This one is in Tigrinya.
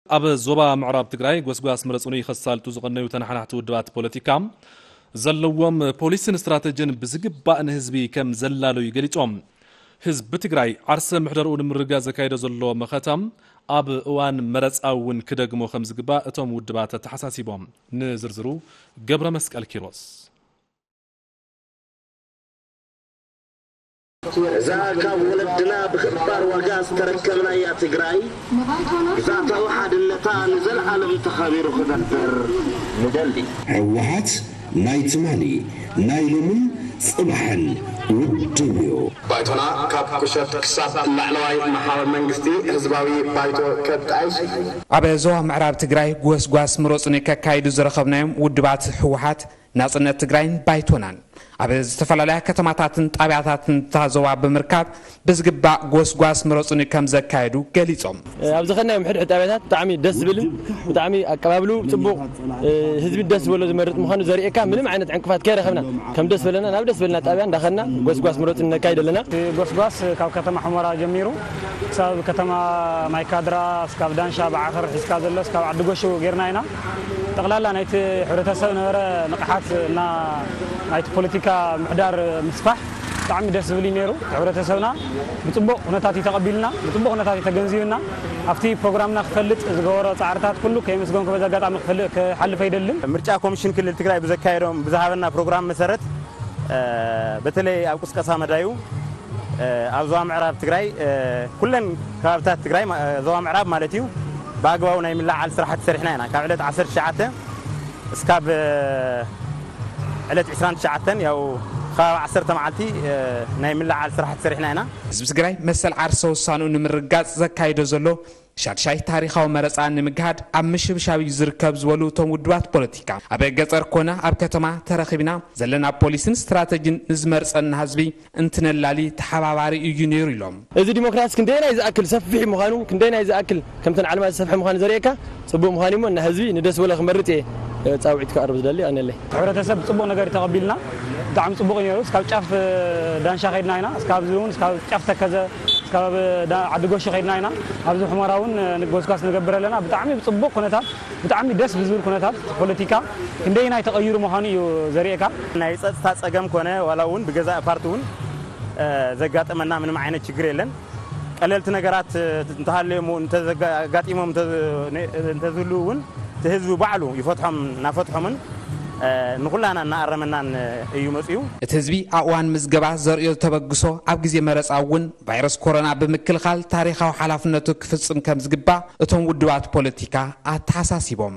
ኣብ ዞባ ምዕራብ ትግራይ ጎስጓስ ምረጹኒ ከሳልጡ ዝቐነዩ ተነሓናሕቲ ውድባት ፖለቲካ ዘለዎም ፖሊስን ስትራተጂን ብዝግባእ ንህዝቢ ከም ዘላለዩ ገሊጾም። ህዝቢ ትግራይ ዓርሰ ምሕደርኡ ንምርግጋጽ ዘካየዶ ዘሎ መኸታ ኣብ እዋን መረጻ እውን ክደግሞ ከም ዝግባእ እቶም ውድባት ኣተሓሳሲቦም። ንዝርዝሩ ገብረ መስቀል ኪሮስ። እዛ ካብ ወለድና ብኽባር ዋጋ ዝተረከብናያ ትግራይ ግዛታዊ ሓድነታ ንዘለዓለም ተኸቢሩ ክነብር ንደሊ። ህወሓት ናይ ትማሊ ናይ ሎምን ፅባሕን ውድብ እዩ። ባይቶና ካብ ቁሸት ክሳብ ላዕለዋይ መሓውር መንግስቲ ህዝባዊ ባይቶ ከጣይሽ እዩ። ኣብ ዞባ ምዕራብ ትግራይ ጎስጓስ ምረፁኒ ከካይዱ ዝረኸብናዮም ውድባት ህወሓት ናፅነት ትግራይን ባይቶናን ኣብ ዝተፈላለያ ከተማታትን ጣብያታትን እታ ዞባ ብምርካብ ብዝግባእ ጎስጓስ ምረፁኒ ከም ዘካየዱ ገሊፆም። ኣብ ዝኸድናዮም ሕድሕድ ጣብያታት ብጣዕሚ ደስ ዝብልን ብጣዕሚ ኣቀባብሉ ፅቡቕ ህዝቢ ደስ ዝበሎ ዝመርጥ ምዃኑ ዘርእየካ ምንም ዓይነት ዕንቅፋት ከይረኸብና ከም ደስ በለና ናብ ደስ በለና ጣብያ እንዳኸድና ጎስጓስ ምረፁኒ ነካይድ ኣለና። ጎስጓስ ካብ ከተማ ሑመራ ጀሚሩ ክሳብ ከተማ ማይካድራ እስካብ ዳንሻ ብዓኸር ሒዝካ ዘሎ እስካብ ዓዲ ጎሹ ጌርና ኢና። ጠቕላላ ናይቲ ሕብረተሰብ ነበረ ንቕሓት እና ናይቲ ፖለቲካ ምሕዳር ምስፋሕ ብጣዕሚ ደስ ዝብል እዩ ነይሩ። ሕብረተሰብና ብፅቡቕ ኩነታት እዩ ተቐቢልና፣ ብፅቡቕ ኩነታት እዩ ተገንዚብና። ኣብቲ ፕሮግራምና ክፈልጥ ዝገበሮ ፃዕርታት ኩሉ ከየመስገንኩ በዚ ኣጋጣሚ ክፈልጥ ክሓልፍ ኣይደልን። ምርጫ ኮሚሽን ክልል ትግራይ ብዘካየዶም ብዝሃበና ፕሮግራም መሰረት በተለይ ኣብ ቅስቀሳ መዳዩ ኣብ ዞባ ምዕራብ ትግራይ ኩለን ከባብታት ትግራይ ዞባ ምዕራብ ማለት እዩ ብኣግባቡ ናይ ምልዓል ስራሕቲ ሰሪሕና ኢና። ካብ ዕለት ዓሰርተ ትሽዓተ እስካብ ዕለት ዕስራን ትሽዓተን ያው ከባቢ ዓሰርተ መዓልቲ ናይ ምልዓል ስራሕቲ ሰሪሕና ኢና። ህዝቢ ትግራይ መሰል ዓርሰ ውሳንኡ ንምርጋፅ ዘካይዶ ዘሎ ሻድሻይ ታሪኻዊ መረፃ ንምግሃድ ኣብ ምሽብሻብ እዩ ዝርከብ ዝበሉ እቶም ውድባት ፖለቲካ፣ ኣብ ገፀር ኮነ ኣብ ከተማ ተረኺብና ዘለና ፖሊስን ስትራተጂን ንዝመርፀና ህዝቢ እንትነላሊ ተሓባባሪ እዩ ነይሩ ኢሎም። እዚ ዲሞክራሲ ክንደየናይ ዝኣክል ሰፊሕ ምዃኑ ክንደየናይ ዝኣክል ከምተን ዓለማት ዝሰፍሐ ምዃኑ ዘርእየካ ፅቡቅ ምዃን እሞ እና ህዝቢ ንደስ በሎ ክመርፅ እየ ፃውዒት ክኣርብ ዝደሊ ኣነለይ። ሕብረተሰብ ብፅቡቅ ነገር ተቐቢልና ብጣዕሚ ፅቡቅ እዩ ነይሩ። እስካብ ጫፍ ዳንሻ ከይድና ኢና። እስካብ እዚ እውን እስካብ ጫፍ ተከዘ እስካብ ዓዲ ጎሹ ከይድና ኢና። ኣብዚ ሑመራ እውን ጎስጓስ ንገብር ኣለና። ብጣዕሚ ብፅቡቅ ኩነታት ብጣዕሚ ደስ ብዝብል ኩነታት ፖለቲካ ክንደየናይ ተቐይሩ ምዃኑ እዩ ዘርእየካ። ናይ ፀፅታ ፀገም ኮነ ዋላ እውን ብገዛእ ፓርቲ እውን ዘጋጠመና ምንም ዓይነት ችግር የለን። ቀለልቲ ነገራት እንተሃለዮም እውን እንተዘጋጢሞም እንተዝህልው እውን እቲ ህዝቢ ባዕሉ ይፈትሖም እናፈትሖምን ንኹላና እናኣረመናን እዩ መፅዩ። እቲ ህዝቢ ኣብ እዋን ምዝገባ ዘርእዮ ተበግሶ ኣብ ግዜ መረፃ እውን ቫይረስ ኮሮና ብምክልኻል ታሪኻዊ ሓላፍነቱ ክፍፅም ከም ዝግባእ እቶም ውድባት ፖለቲካ ኣተሓሳሲቦም።